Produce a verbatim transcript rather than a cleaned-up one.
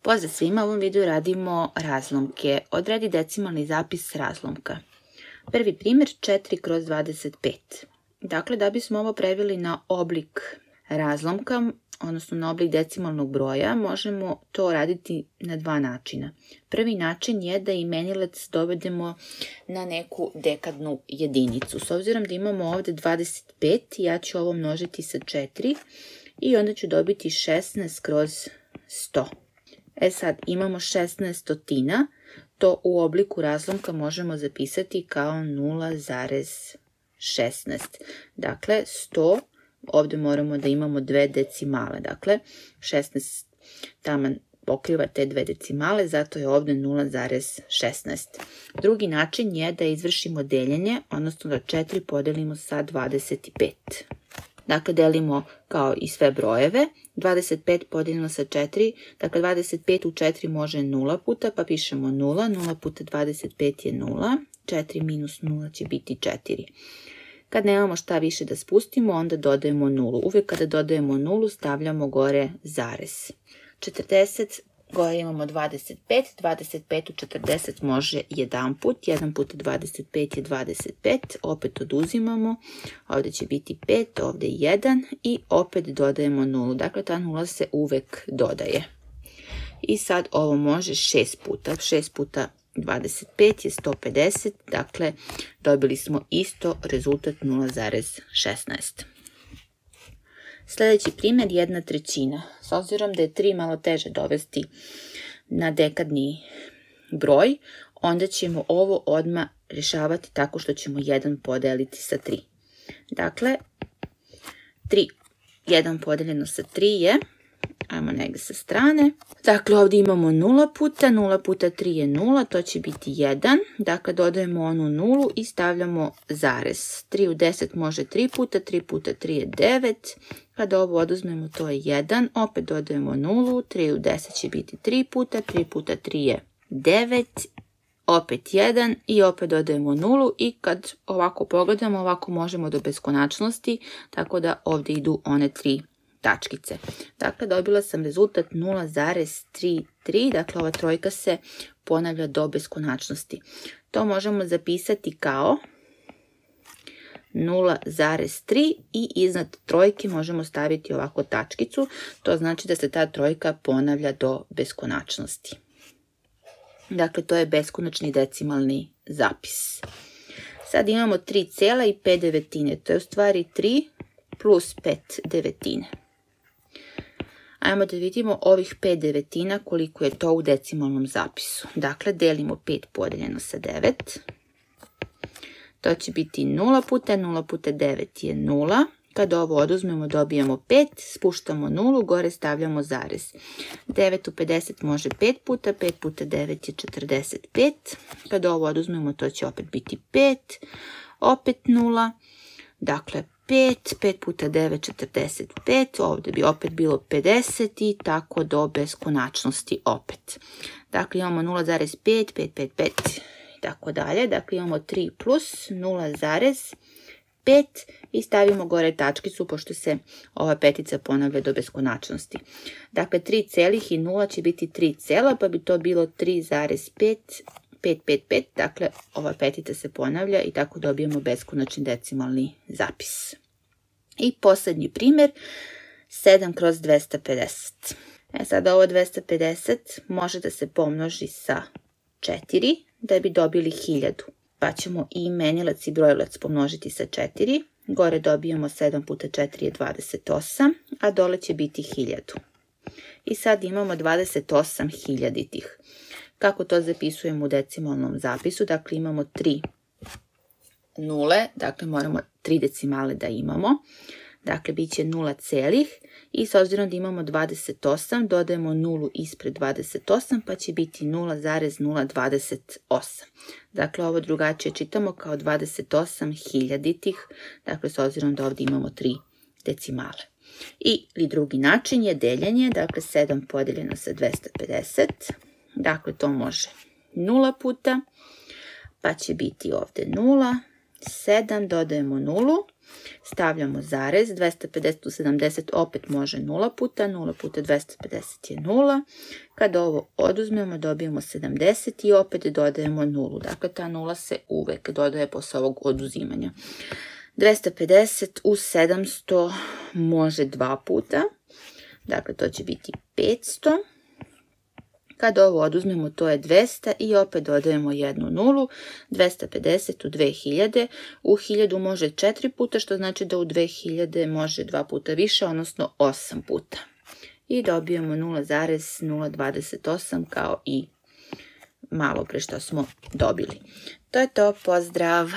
Pozdrav svima, u ovom videu radimo razlomke. Odredi decimalni zapis razlomka. Prvi primjer četiri kroz dvadeset pet. Dakle, da bismo ovo preveli na oblik razlomka, odnosno na oblik decimalnog broja, možemo to raditi na dva načina. Prvi način je da imenilac dovedemo na neku dekadnu jedinicu. S obzirom da imamo ovdje dvadeset pet, ja ću ovo množiti sa četiri i onda ću dobiti šesnaest kroz sto. E sad, imamo šesnaest stotina, to u obliku razlomka možemo zapisati kao nula zarez šesnaest. Dakle, sto, ovdje moramo da imamo dve decimale, dakle, šesnaest taman pokriva te dve decimale, zato je ovdje nula zarez šesnaest. Drugi način je da izvršimo deljenje, odnosno da četiri podelimo sa dvadeset pet. Dakle, delimo kao i sve brojeve, dvadeset pet podijeljeno sa četiri, dakle dvadeset pet u četiri može nula puta, pa pišemo nula, nula puta dvadeset pet je nula, četiri minus nula će biti četiri. Kad nemamo šta više da spustimo, onda dodajemo nulu. Uvijek kada dodajemo nulu, stavljamo gore zarez. četrdeset, gore imamo dvadeset pet, dvadeset pet u četrdeset može jedan put, jedan puta dvadeset pet je dvadeset pet, opet oduzimamo, ovdje će biti pet, ovdje jedan i opet dodajemo nulu, dakle ta nula se uvek dodaje. I sad ovo može šest puta, šest puta dvadeset pet je sto pedeset, dakle dobili smo isto rezultat nula zarez šesnaest. Sljedeći primjer, jedna trećina. S obzirom da je tri malo teže dovesti na dekadni broj, onda ćemo ovo odmah rješavati tako što ćemo jedan podeliti sa tri. Dakle, tri, jedan podeljeno sa tri je, ajmo negdje sa strane, dakle ovdje imamo nula puta, nula puta tri je nula, to će biti jedan, dakle dodajemo onu nulu i stavljamo zarez. tri u deset može tri puta, tri puta tri je devet, kada ovo oduzmemo to je jedan, opet dodajemo nulu, tri u deset će biti tri puta, tri puta tri je devet, opet jedan i opet dodajemo nulu i kad ovako pogledamo, ovako možemo do beskonačnosti, tako da ovdje idu one tri tačkice. Dakle, dobila sam rezultat nula zarez trideset tri, dakle ova trojka se ponavlja do beskonačnosti. To možemo zapisati kao nula zarez tri i iznad trojke možemo staviti ovako tačkicu, to znači da se ta trojka ponavlja do beskonačnosti. Dakle, to je beskonačni decimalni zapis. Sad imamo tri cela i pet devetine, to je u stvari tri plus pet devetine. Ajmo da vidimo ovih pet devetina koliko je to u decimalnom zapisu. Dakle, delimo pet podeljeno sa devet. To će biti nula puta, nula puta devet je nula. Kada ovo oduzmemo dobijemo pet, spuštamo nulu, gore stavljamo zarez. devet u pedeset može pet puta, pet puta devet je četrdeset pet. Kada ovo oduzmemo to će opet biti pet, opet nula, dakle pet, pet puta devet, četrdeset pet, ovdje bi opet bilo pedeset i tako do beskonačnosti opet. Dakle, imamo nula zarez pet, pet, pet, pet i tako dalje. Dakle, imamo tri plus nula zarez pet i stavimo gore tačkicu pošto se ova petica ponavlja do beskonačnosti. Dakle, tri celih i nula će biti tri cela, pa bi to bilo tri zarez pet, pet, pet, pet, dakle ova petica se ponavlja i tako dobijemo beskonačni decimalni zapis. I posljednji primjer, sedam kroz dvesta pedeset. E sad ovo dvesta pedeset može da se pomnoži sa četiri da bi dobili hiljadu. Pa ćemo i imenilac i brojilac pomnožiti sa četiri. Gore dobijemo sedam puta četiri je dvadeset osam, a dole će biti hiljadu. I sad imamo dvadeset osam hiljaditih. Kako to zapisujemo u decimalnom zapisu? Dakle, imamo tri nule, dakle moramo tri decimale da imamo. Dakle, bit će nula celih i s obzirom da imamo dvadeset osam, dodajemo nulu ispred dvadeset osam, pa će biti nula zarez nula dvadeset osam. Dakle, ovo drugačije čitamo kao dvadeset osam hiljaditih, dakle, s obzirom da ovdje imamo tri decimale. I drugi način je deljenje, dakle, sedam podijeljeno sa dvesta pedeset. Dakle, to može nula puta, pa će biti ovdje nula, sedam, dodajemo nulu, Stavljamo zarez, dvesta pedeset u sedamdeset opet može nula puta, nula puta dvesta pedeset je nula. Kada ovo oduzmemo dobijemo sedamdeset i opet dodajemo nulu. Dakle, ta nula se uvek dodaje posle ovog oduzimanja. dvesta pedeset u sedamsto može dva puta, dakle to će biti petsto. Kada ovo oduzmemo to je dvesta i opet dodajemo jednu nulu, dvesta pedeset u dve hiljade, u hiljadu može četiri puta, što znači da u dve hiljade može dva puta više, odnosno osam puta. I dobijemo nula zarez nula dvadeset osam kao i malo pre što smo dobili. To je to, pozdrav!